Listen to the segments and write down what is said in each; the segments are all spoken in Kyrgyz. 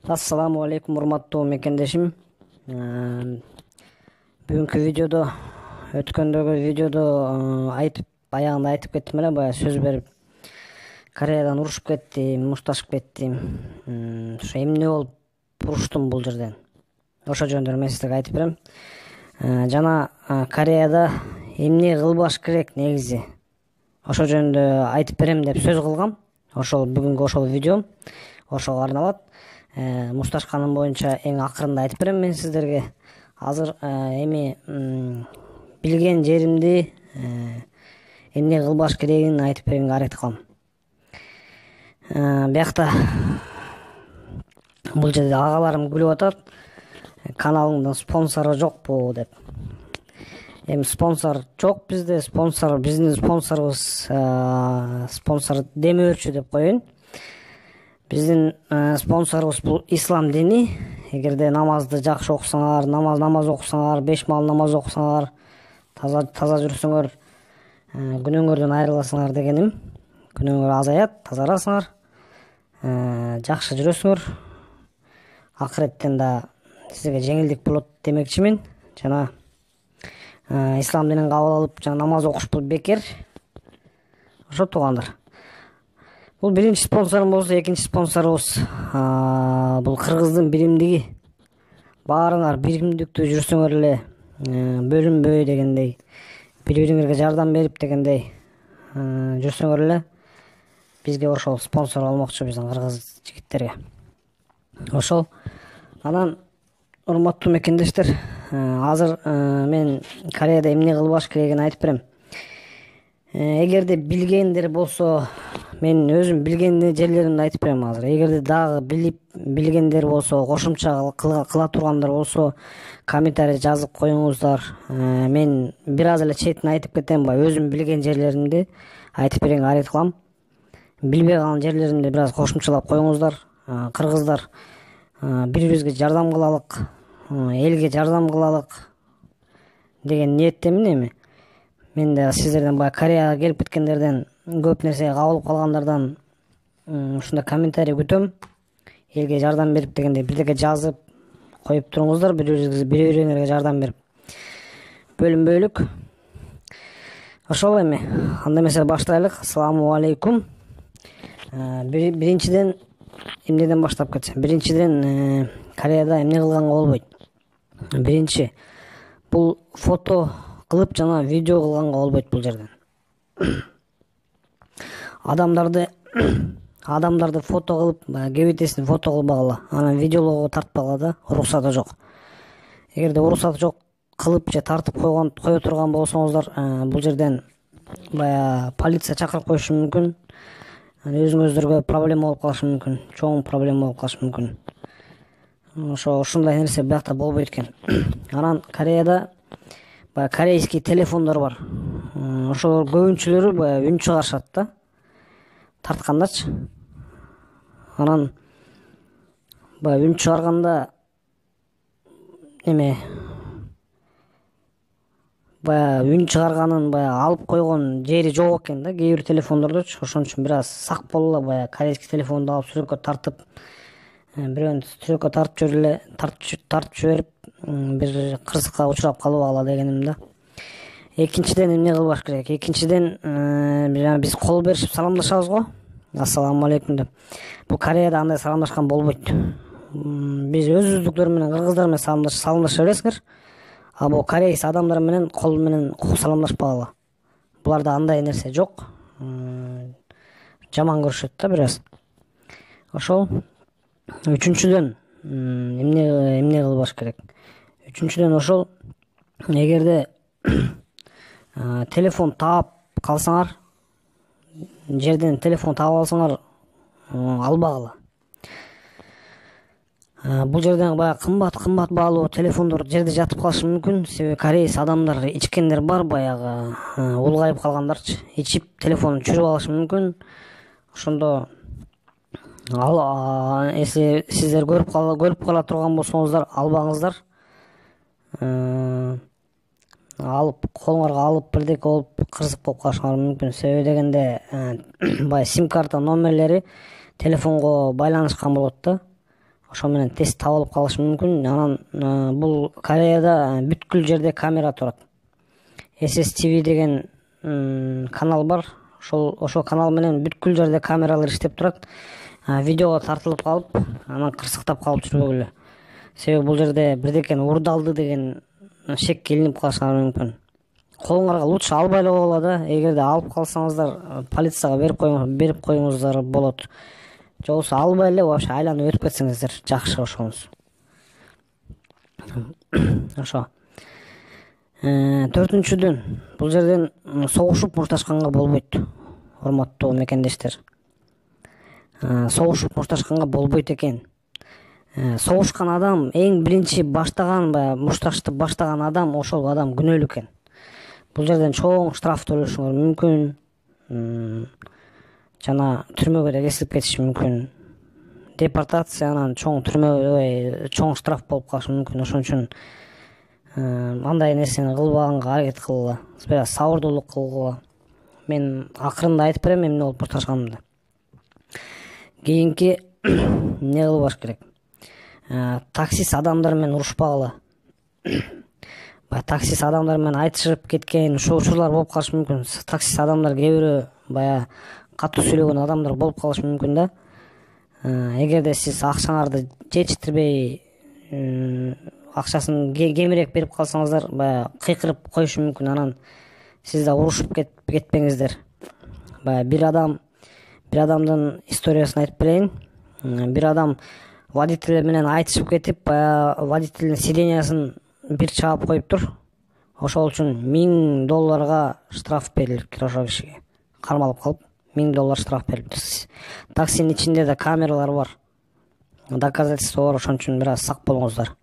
Ассаламу алейкум, урматтуу мекендешим. Бүгүнкү видеодо, өткөндөгү видеодо аягында айтып кеттим эле, баягы сөз берип, Кореядан урушуп кеттим, мушташып кеттим. Ошо эмне болуп уруштум бул жерден? Ошо жөнүндө мен сиздерге айтып берем. Жана Кореяда эмне кылбаш керек негизи? Ошо жөнүндө айтып берем деп сөз кылгам. Ошол бүгүнкү ошол видеом ошого арналат. Мушташканым боюнча эң акырында айтып берем мен сиздерге. Азыр эми билген жеримди эмне кылбаш керегин айтып берүүгө аракет кылам. Биякта бул жерде агаларым күлүп атат. Каналыңдын спонсору жокпу деп. Эми спонсор жок бизде, биздин спонсорубуз спонсор демөөрчү деп коеюн. Биздин спонсорубуз бул ислам дини. Эгерде намазды жакшы окусаңар, намаз окусаңар, 5 маал намаз окусаңар, таза жүрсөңөр, күнөөңөрдөн айрыласыңар дегеним. Күнөөңөр азаят, тазарасыңар, жакшы жүрөсүңөр. Акыреттен да сизге жеңилдик болот демекчимин. Жана ислам динин кабыл алып, жана намаз окушпул бекер. Ошо туугандар. Бул биринчи спонсорум болсо, экинчи спонсорубуз бул кыргыздын биримдиги. Баарыңар биримдиктүү жүрсөңөр эле, бөлүнбөй дегендей, бири-бириңерге жардам берип дегендей жүрсөңөр эле, бизге ошол спонсор болмокчу биздин кыргыз жигиттерге. Ошол. Анан урматтуу мекендештер, азыр мен Кореяда эмне кылбаш керегин айтып берем. Эгерде билгендер болсо, мен өзүм билген жерлеримди айтып берем азыр. Эгерде дагы билгендер болсо, кошумча кыла тургандар болсо, комментарий жазып коюңуздар. Мен бир аз эле четин айтып кетем, өзүм билген жерлеримди айтып берүүгө аракет кылам. Билбей калган жерлеримди бир аз кошумчалап коюңуздар. Кыргыздар, бири-бирибизге жардам кылалык, элге жардам кылалык деген ниеттемин эми. Мен да сиздерден баягы Кореяга келип кеткендерден, көп нерсеге кабылып калгандардан ушундай комментарий күтөм. Элге жардам берип дегендей бирдеке жазып коюп туруңуздар, бири-бириңерге жардам берип. Бөлүнбөйлүк. Ошол эми. Анда эмесе баштайлык. Ассаламу алейкум. Биринчиден эмнеден баштап кетсем? Биринчиден Кореяда эмне кылганга болбойт? Биринчи, бул фото кылып жана видео кылганга болбойт бул жерден. Адамдарды фото кылып, кебетесин фото кылбагыла, анан видеолоого тартпагыла да, уруксаты жок. Эгерде уруксаты жок кылып же тартып кое турган болсоңуздар, бул жерден баягы полиция чакырып коюшу мүмкүн. Өзүңүздөргө проблема болуп калышы мүмкүн, чоң проблема болуп калышы мүмкүн. Ошондой нерсе биякта болбойт экен. Анан Кореяда корейский телефондор бар. Ошолор көбүнчөлөрү баягы үн чыгарышат да, тарткандачы. Анан баягы үн чыгарганда баягы үн чыгарганын алып койгон жери жок экен да, кээ бир телефондордочу. Ошон үчүн бир аз сак болула, баягы корейский телефонду алып сүрөккө тартып, бирөөнү сүрөккө тартып жиберип, бир кырсыкка учурап калбагыла дегеним да. Экинчиден эмне кылбаш керек? Экинчиден биз кол беришип саламдашабыз го. Ассаламу алейкум деп. Бул Кореяда андай саламдашкан болбойт. Биз өзүбүздүктөр менен, кыргыздар менен саламдаша бересиңер. А бул корейс адамдар менен кол менен саламдашпагыла. Буларда андай нерсе жок. Жаман көрүшөт да бир аз. Ошол. Үчүнчүдөн эмне кылбаш керек? Үчүнчүдөн ошол, эгерде телефон таап калсаңар, жерден телефон таап алсаңар, албагыла. Бул жерден баягы кымбат баалуу телефондор жерде жатып калышы мүмкүн. Себеби корейс адамдар, ичкендер бар, баягы улгайып калгандарчы. Ичип телефонун чүрүп алышы мүмкүн. Ошондо если сиздер көрүп кала турган болсоңуздар, албаңыздар. Алып колуңарга алып бирдеке болуп кырсык болуп калышыңар мүмкүн. Себеби дегенде баягы сим карта номерлери телефонго байланышкан болот да. ошо менен тез табылып калышы мүмкүн. Анан бул Кореяда бүткүл жерде камера турат. SSTV деген канал бар. Ошол канал менен бүткүл жерде камералар иштеп турат. Видеого тартылып калып, анан кырсыктап калып жүрбөгүлө. Себеби бул жерде бирдекени урдалды деген шек келинип калышыңар мүмкүн. Колуңарга лучше албай эле койгула да. Эгерде алып калсаңыздар, полицияга берип коюңуздар болот. Же болбосо албай эле вообще айланып өтүп кетсеңиздер жакшы ошоңуз. Ошо. 4-дүн бул жерден согушуп мушташканга болбойт. Урматтуу мекендештер. Согушуп мушташканга болбойт экен. Согушкан адам эң биринчи баштаган, мушташты баштаган адам, ошол адам күнөөлүү экен. Бул жерден чоң штраф төлөшүңөр мүмкүн. Жана түрмөгө да кесилип кетиши мүмкүн. Депортация анан чоң чоң штраф болуп калышы мүмкүн. Ошон үчүн андай нерсени кылбаганга аракет кылгыла. Сабырдуулук кылгыла. Мен акырында айтып берем эмне болуп башташканымды. Кийинки эмне кылбаш керек? Таксист адамдар менен урушпагыла. Таксист адамдар менен айтышып кеткен ушул учурлар болуп калышы мүмкүн. Таксист адамдар кээ бирөө катуу сүйлөгөн адамдар болуп калышы мүмкүн да. Эгерде сиз акчаңарды жетиштирбей, акчасын кемирээк берип калсаңыздар, кыйкырып коюшу мүмкүн. Анан сиз да урушуп кетпеңиздер. Бир адамдын историясын айтып берейин. Бир адам водитель менен айтышып кетип, водительдин сидениясын бир чаап коюптур. Ошол үчүн $1000 штраф берилиптир ошол кишиге. Кармалып калып $1000 штраф берилиптир. Таксинин ичинде да камералар бар. Доказательство бар, ошон үчүн бир аз сак болуңуздар.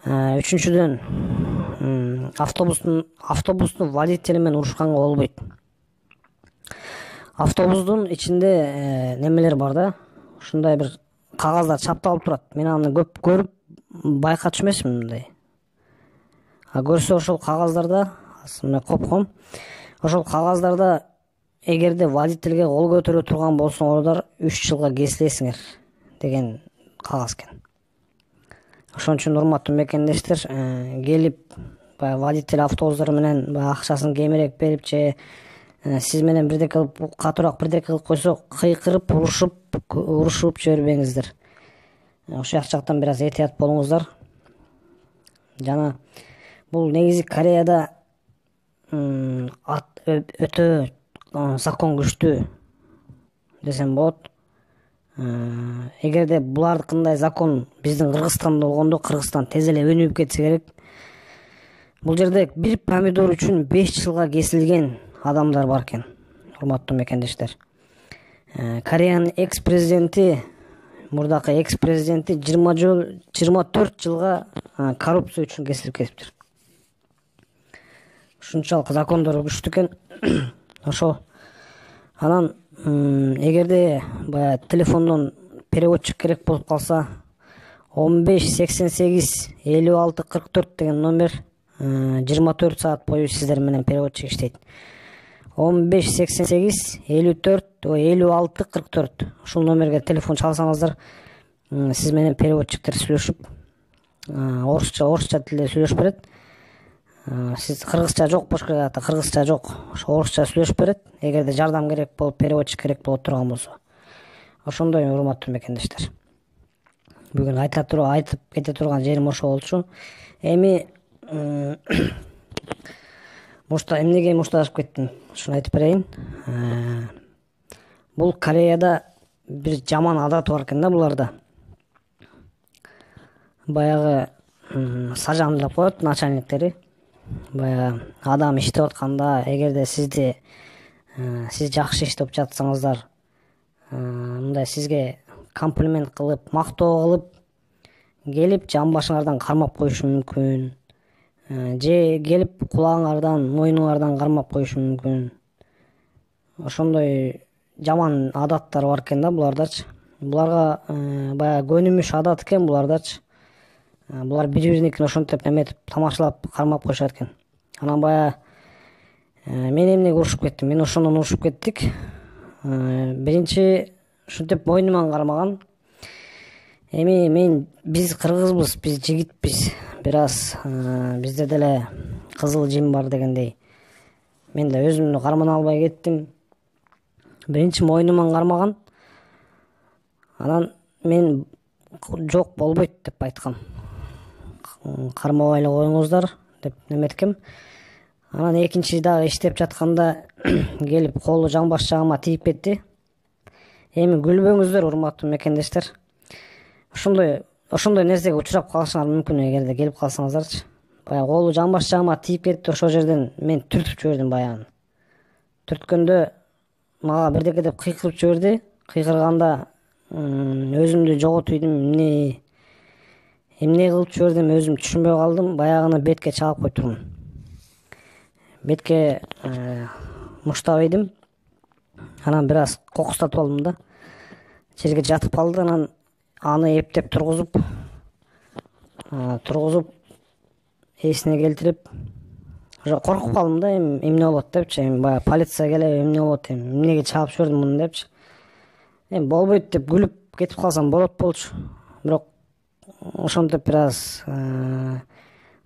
3-дүн автобустун водители менен урушканга болбойт. Автобустун ичинде немелер бар да. Ушундай бир кагаздар чапталып турат. Мен аны көп көрүп байкатчу эмесмин мындай. Көрсө ошол кагаздарда, мен копком. Ошол кагаздарда эгерде водительге кол көтөрө турган болсоңордар 3 жылга кесилесиңер деген кагаз экен. Ошон үчүн урматтуу мекендештер, келип водитель автобустар менен акчасын кемирээк берип же сиз менен бирдеке кылып, катуураак бирдеке кылып койсо, кыйкырып, урушуп жибербеңиздер. Ошол жактан бир аз этият болуңуздар. Жана бул негизи Кореяда өтө закон күчтүү десем болот. Эгерде булардыкындай закон биздин Кыргызстанда болгондо, Кыргызстан тез эле өнүгүп кетсе керек. Бул жерде бир помидор үчүн 5 жылга кесилген адамдар бар экен, урматтуу мекендештер. Кореянын экс-президенти, мурдакы экс-президенти 24 жылга коррупция үчүн кесилип кетиптир. Ушунчалык закондор күчтүү экен. Ошо анан эгерде телефондон переводчик керек болуп калса, 1588 56 44 деген номер 24 саат бою сиздер менен переводчик иштейт. 1588 56 44. Ушул номерге телефон чалсаңыздар, сиз менен переводчиктер сүйлөшүп, орусча тилде сүйлөшүп берет. Сиз кыргызча жок, башка кыргызча жок, ошо орусча сүйлөшүп берет. Эгерде жардам керек болуп, переводчик керек боло турган болсо. Ошондой урматтуу мекендештер. Бүгүн айтып кете турган жерим ошо болчу. Эми эмнеге мушташып кеттим, ушуну айтып берейин. Бул Кореяда бир жаман адат бар экен да буларда. Баягы сажан деп коет начальниктери. Адам иштеп атканда, эгерде сиз жакшы иштеп жатсаңыздар, мындай сизге комплимент кылып, мактоо кылып, келип жан башыңардан кармап коюшу мүмкүн. Же келип кулагыңардан, мойнуңардан кармап коюшу мүмкүн. Ошондой жаман адаттар бар экен да булардачы. Буларга баягы көнүмүш адат экен булардачы. Булар бири-бириникин ошентип эметип, тамашалап, кармап коюшат экен. Анан мен эмнеге урушуп кеттим? Мен ошондон урушуп кеттик. Биринчи ушинтип мойнуман кармаган. Эми биз кыргызбыз, биз жигитпиз. Бир аз бизде деле кызыл жим бар дегендей. Мен да өзүмдү кармана албай кеттим. Биринчи мойнуман кармаган. Анан мен жок болбойт деп айткам. Кармабай эле коюңуздар деп неметкем. Анан экинчи дагы иштеп жатканда келип колу жамбаш жагыма тийип кетти. Эми күлбөңүздөр, урматтуу мекендештер. Ошондой нерсеге учурап калышыңар мүмкүн эгерде келип калсаңыздарчы. Баягы колу жамбаш жагыма тийип кетти. Ошол жерден мен түртүп жибердим баягы. Түрткөндө мага бирдеке деп кыйкырып жиберди. Кыйкырганда өзүмдү жоготуйдум, эмне кылып жибердим өзүм түшүнбөй калдым. Баягыны бетке чаап койтурмун. Бетке муштап ийдим. Анан бир аз кокустатып алдым да. Жерге жатып калды. Анан аны эптеп тургузуп эсине келтирип, уже коркуп калдым да, эмне болот депчи. Эми баягы полиция келип эмне болот, эмнеге чаап жибердим муну депчи. Эми болбойт деп күлүп кетип калсам болот болчу. Бирок ошентип бир аз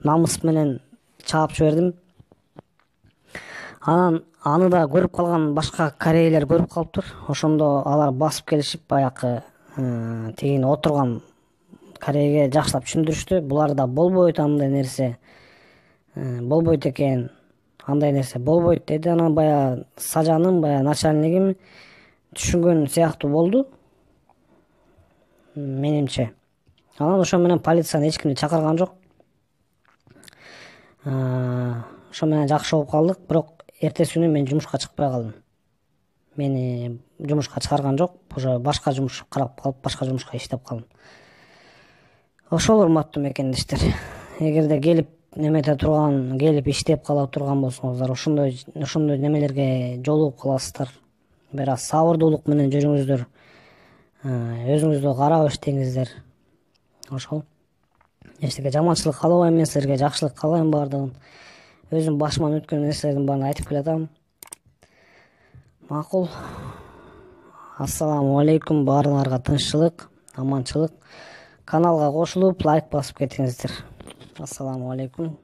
намыс менен чаап жибердим. Анан аны да көрүп калган башка корейлер көрүп калыптыр. Ошондо алар басып келишип, баягы тигини отурган корейге жакшылап түшүндүрүштү. Буларда болбойт андай нерсе. Болбойт экен. Андай нерсе болбойт деди. Анан баягы сажаным, баягы начальнигим түшүнгөн сыяктуу болду, менимче. Анан ошо менен полицияны эч кимди чакырган жок. Ошо менен жакшы болуп калдык. Бирок эртеси күнү мен жумушка чыкпай калдым. Мени жумушка чыгарган жок. Уже башка жумуш карап калып, башка жумушка иштеп калдым. Ошол, урматтуу мекендештер. Эгерде келип немете турган, келип иштеп кала турган болсоңуздар, ошондой немелерге жолугуп каласыздар. Бир аз сабырдуулук менен жүрүңүздөр. Өзүңүздү карап иштеңиздер. Ошол. Эчтеке жаманчылык каалабайм, мен силерге жакшылык каалайм баардыгын. Өзүм башыман өткөн нерселердин баарын айтып келатам. Макул. Ассаламу алейкум, баарыңарга тынччылык, аманчылык. Каналга кошулуп, лайк басып кетиңиздер. Ассаламу алейкум.